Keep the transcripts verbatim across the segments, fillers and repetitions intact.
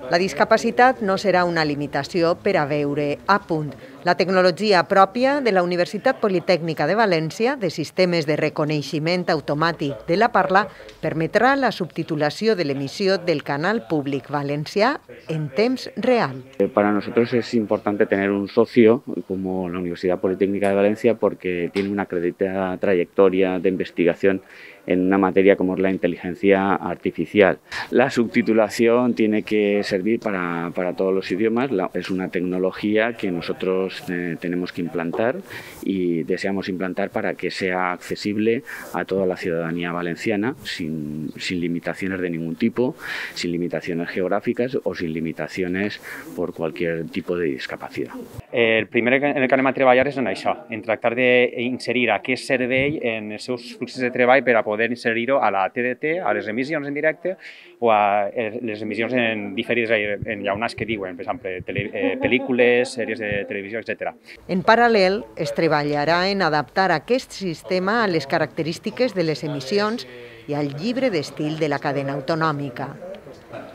La discapacitat no serà una limitació per a veure a punt. La tecnologia pròpia de la Universitat Politècnica de València de sistemes de reconeixement automàtic de la parla permetrà la subtitulació de l'emissió del canal públic valencià en temps real. Para nosotros es importante tener un socio como la Universidad Politécnica de Valencia porque tiene una acreditada trayectoria de investigación en una materia como es la inteligencia artificial. La subtitulación tiene que servir para, para todos los idiomas, la, es una tecnología que nosotros eh, tenemos que implantar y deseamos implantar para que sea accesible a toda la ciudadanía valenciana sin, sin limitaciones de ningún tipo, sin limitaciones geográficas o sin limitaciones por cualquier tipo de discapacidad. El primer en el que anem a treballar és en això, en tractar d'inserir aquest servei en els seus fluxos de treball per a poder inserir-ho a la T D T, a les emissions en directe o a les emissions en diferides enllaunats que diuen, per exemple, tele, eh, pel·lícules, sèries de televisió, etcètera. En paral·lel, es treballarà en adaptar aquest sistema a les característiques de les emissions i al llibre d'estil de la cadena autonòmica.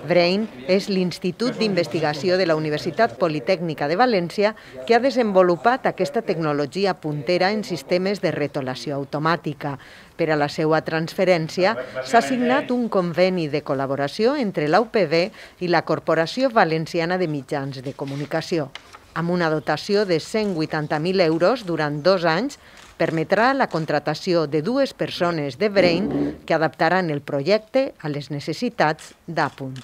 Brain és l'Institut d'Investigació de la Universitat Politècnica de València que ha desenvolupat aquesta tecnologia puntera en sistemes de retolació automàtica. Per a la seva transferència s'ha signat un conveni de col·laboració entre la U P B i la Corporació Valenciana de Mitjans de Comunicació. Amb una dotació de cent vuitanta mil euros durant dos anys, permetrà la contratació de dues persones de Brain que adaptaran el projecte a les necessitats d'Apunt.